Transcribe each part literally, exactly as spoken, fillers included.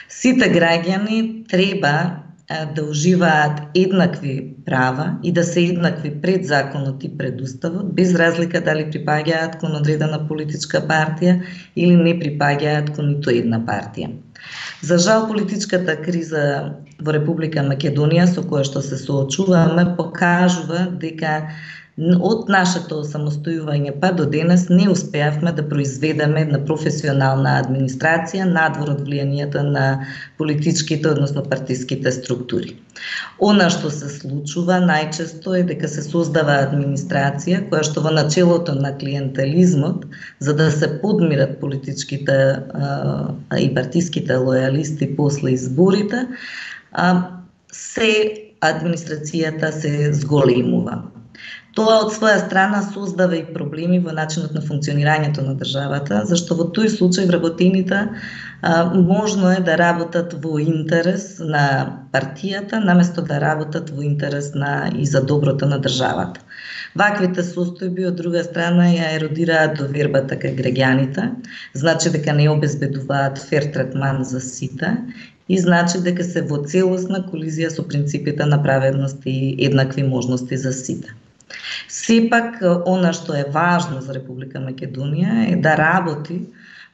Сите граѓани треба да уживаат еднакви права и да се еднакви пред законот и пред уставот, без разлика дали припаѓаат кон одредена политичка партија или не припаѓаат кон ниту една партија. За жал, политичката криза во Република Македонија со која што се соочуваме покажува дека од нашето осамостојување па до денес не успеавме да произведеме една професионална администрација надвор од влијанието на политичките, односно партиските структури. Она што се случува најчесто е дека се создава администрација која што во начелото на клиентелизмот, за да се подмират политичките а, и партиските лојалисти после изборите, а, се администрацијата се зголемува. Тоа од своја страна создава и проблеми во начинот на функционирањето на државата, зашто во тој случај вработените а, можно е да работат во интерес на партијата, наместо да работат во интерес на и за доброто на државата. Ваквите состојби од друга страна ја еродираат довербата кај граѓаните, значи дека не обезбедуваат фер третман за сите и значи дека се во целосна колизија со принципите на праведност и еднакви можности за сите. Сепак, она што е важно за Република Македонија е да работи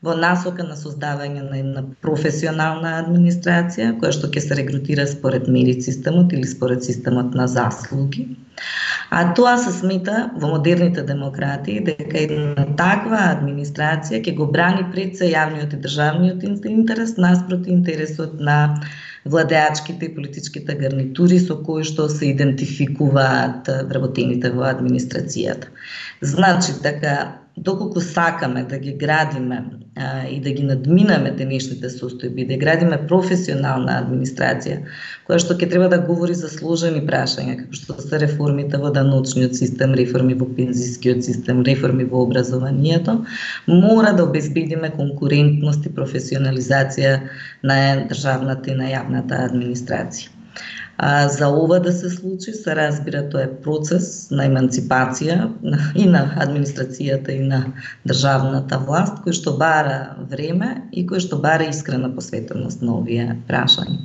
во насока на создавање на една професионална администрација, која што ќе се регрутира според мерит системот или според системот на заслуги. А тоа се смета во модерните демократии дека една таква администрација ќе го брани пред се јавниот и државниот интерес наспроти интересот на владеачките и политичките гарнитури со кои што се идентификуваат вработените во администрацијата. Значи, дека доколку сакаме да ги градиме а, и да ги надминаме денешните состојби, да градиме професионална администрација, која што ќе треба да говори за сложени прашања, како што се реформите во даночниот систем, реформи во пензискиот систем, реформи во образованието, мора да обезбедиме конкурентност и професионализација на државната и на јавната администрација. А, за ова да се случи, се разбира, тоа е процес на еманципација и на администрацијата и на државната власт, кој што бара време и кој што бара искрена посветеност на овие прашања.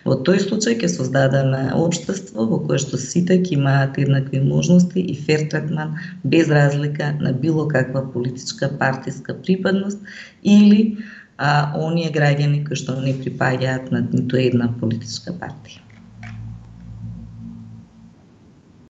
Во тој случај ќе создадеме општество во кое што сите ќе имаат еднакви можности и фер третман без разлика на било каква политичка партиска припадност или а, оние граѓани кои што не припаѓаат на ниту една политичка партија.